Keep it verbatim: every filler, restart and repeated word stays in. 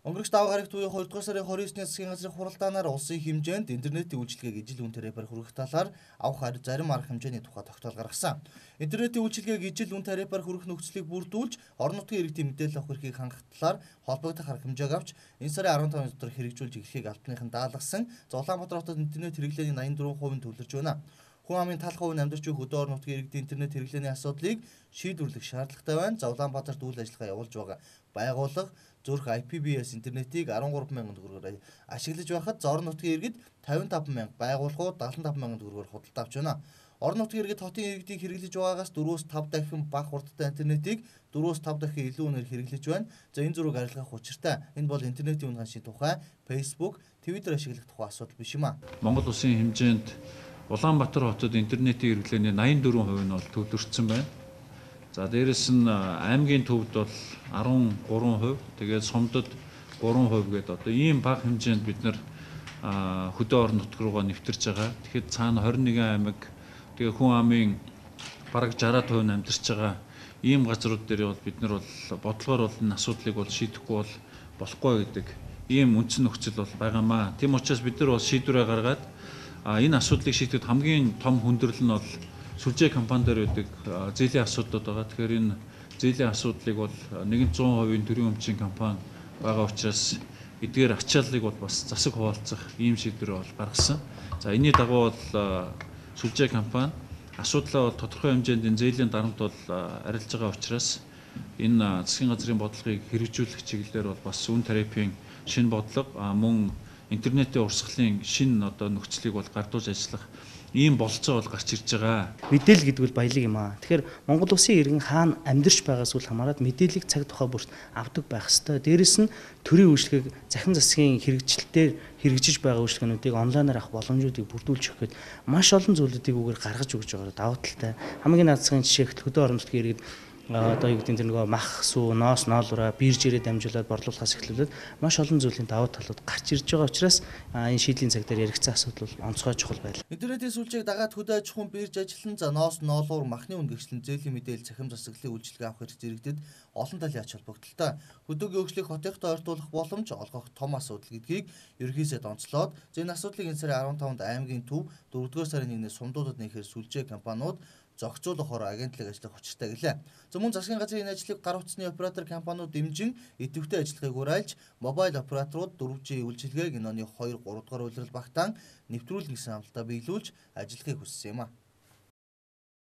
Өнгөрөх даваа гарагт буюу хоёрдугаар сарын хорин есний засгийн газрын хуралдаанаар улсын хэмжээнд интернетийн үйлчилгээг ижил үнэтэй тарифаар хүргэх талаар авах харь зарим арга хэмжээний тухай тогтоол гаргасан. Интернетийн үйлчилгээг ижил үнэ тарифаар хүргэх нөхцөлийг бүрдүүлж, орон нутгийн иргэдийн мэдээлэл авах эрхийг хангах талаар холбогдох арга хэмжээг авч, энэ сарын арван тавны дотор хэрэгжүүлж эхлэхийг албаныхан даалгасан. Улаанбаатар хотод интернет хэрэглээний найман дөрвөн хувийн төвлөрч байна. Хүн амын талх хувийн амьдарч буй хөдөө орон нутгийн иргэдийн интернет хэрэглээний асуудлыг шийдвэрлэх шаардлагатай байна. За Улаанбаатарт үйл ажиллагаа явуулж байгаа байгууллага Зүрх ай пи би эс интернетийг арван гурван мянган төгрөгөөр ашиглаж байхад орон нутгийн иргэд тавин таван мянга, байгууллагууд даатан таван мянган төгрөгөөр худалдаа авч байна. Орон нутгийн иргэд хотын иргэдийг хэрэглэж байгаагаас дөрвөөс тав дахин бага хурдтай интернетийг дөрвөөс тав дахин илүү үнээр хэрэглэж байна. За энэ зургийг арилгах учиртай. Энэ бол интернетийн үн ханшийн тухай Facebook, Twitter ашиглах тухай асуудал биш юм а. Монгол улсын хэмжээнд Улаанбаатар хотод интернетийн хэрэглээний найман дөрвөн хувь нь бол төвлөрсөн байна. За дээрэс нь аймгийн төвд бол арван гурван хувь, тэгээд сумдад гурван хувь гэдэг одоо ийм бага хэмжээнд бид нар хөдөө орон нутг руугаа нэвтэрч байгаа. Тэгэхэд цаана хорин нэгэн аймаг, тэгээд хүн амын бараг шараад хувь нь амьдарч байгаа ийм газрууд дээр бол бид нар бол бодлогоор бол энэ асуудлыг бол шийдэхгүй бол болохгүй гэдэг ийм үндсэн нөхцөл бол байгаамаа. Тийм учраас бид нар бол шийдвэрээ гаргаад энэ асуудлыг шийдэхэд хамгийн том хүндрэл нь бол сүлжээ компани дээр байдаг зээлийн асуудлууд байгаа. Тэгэхээр энэ зээлийн асуудлыг бол нэгэн зуун хувийн төрийн өмчийн компани байгаа учраас эдгээр ачааллыг бол бас засаг хуваалцах ийм шийдвэр бол гаргасан. За энэний дагуу бол сүлжээ компани асуудлаа бол тодорхой хэмжээнд энэ зээлийн дарамт бол арилж байгаа учраас энэ засгийн газрын бодлогыг хэрэгжүүлэх чиглэлээр бол бас үн тарифын шинэ бодлого мөн интернетийн урсгалын шинэ одоо нөхцөлийг бол гардуулж ажиллах ийм болцоо бол гарч ирж байгаа. Мэдээлэл гэдэг бол баялаг юм аа. Тэгэхээр Монгол улсын иргэн хаана амьдарч байгаас үл хамааран мэдээллийг цаг тухай бүрт авдаг байх ёстой. Дээрэс нь төрийн үйлчлэгийг захин засгийн хэрэгжилтээр хэрэгжиж байгаа үйлчлэгнүүдийг онлайнаар авах боломжуудыг бүрдүүлж өгөхөд маш олон зүйлүүдийг үгээр гаргаж өгч байгаа давуу талтай. Хамгийн наад захын жишээ хөдөө орон нутгийн иргэд одоо юу гэдэг нь тэр нөгөө мах, сүү, ноос, ноолроо биржээрээ дамжуулаад борлуулахаас эхлүүлээд маш олон зүйлийн давуу талууд гарч ирж байгаа учраас энэ шийдлийн цаг дээр яригдсан асуудал бол онцгой чухал байлаа. Интернетийн сүлжээг дагаад хөдөө аж ахуйн бирж ажиллан за ноос, ноолуур, махны үнгэгчлэн зээлийн мэдээлэл захим засаглалын үйлчилгээ авах хэрэгцээ иргэдэд олон талын ач холбогдолтой. Хөдөөгийн хөгжлийг хотынхтой ойртуулах боломж олгох том асуудал гэдгийг ерөнхийдөө онцлоод энэ асуудлыг энэ сарын арван тавнд аймгийн төв дөрөвдүгээр сарын нэгнээс сумдуудад нээхээр сүлжээ компаниуд зохицуулахоор агентлаг ажиллах учиртай гэлээ. За мөн засгийн газрын энэ ажлыг гар утасны оператор компаниуд дэмжин идэвхтэй ажиллахыг уриалж, мобайл операторууд дөрвөн жи үйлчилгээг энэ оны хоёр гурав дахь улирал багтаан нэвтрүүлнэ гэсэн амлалтаа биелүүлж ажиллахыг хүссэн юм а.